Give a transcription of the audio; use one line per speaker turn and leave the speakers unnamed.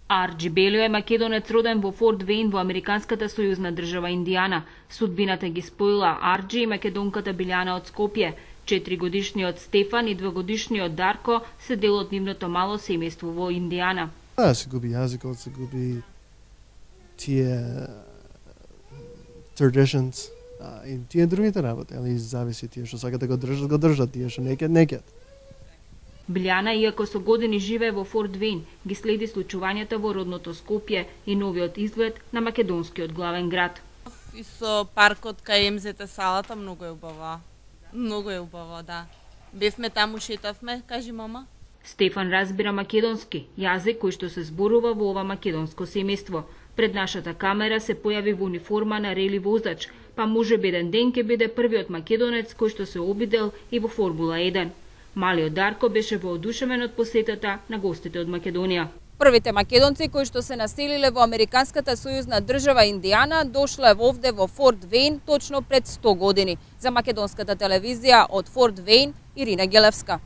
Арджи Белио е македонец роден во Форт Вейн во американската сојузна држава Индијана. Судбината ги споила Арджи и македонката Билјана од Скопје. 4-годишниот Стефан и 2-годишниот Дарко се дел од нивното мало семејство во Индијана.
Се губи јазикот, се губи тие traditions и тие другите работи, али зависи тие што сакат да го држат, тие што некет.
Билјана, иако со години живее во Форт Вейн, ги следи случувањата во родното Скопје и новиот изглед на македонскиот главен град.
И со паркот кај МЗТ салата многу е убава. Многу е убаво, да. Бевме таму, шетавме, кажи мама.
Стефан разбира македонски, јазик кој што се зборува во ова македонско семејство. Пред нашата камера се појави во униформа на рели возач, па можеби еден ден ќе биде првиот македонец кој што се обидел и во Формула 1. Малиот Дарко беше воодушевен од посетата на гостите од Македонија.
Првите македонци кои што се населиле во американската сојузна држава Индијана дошле овде во Форт Вейн точно пред 100 години. За македонската телевизија од Форт Вейн, Ирина Гелевска.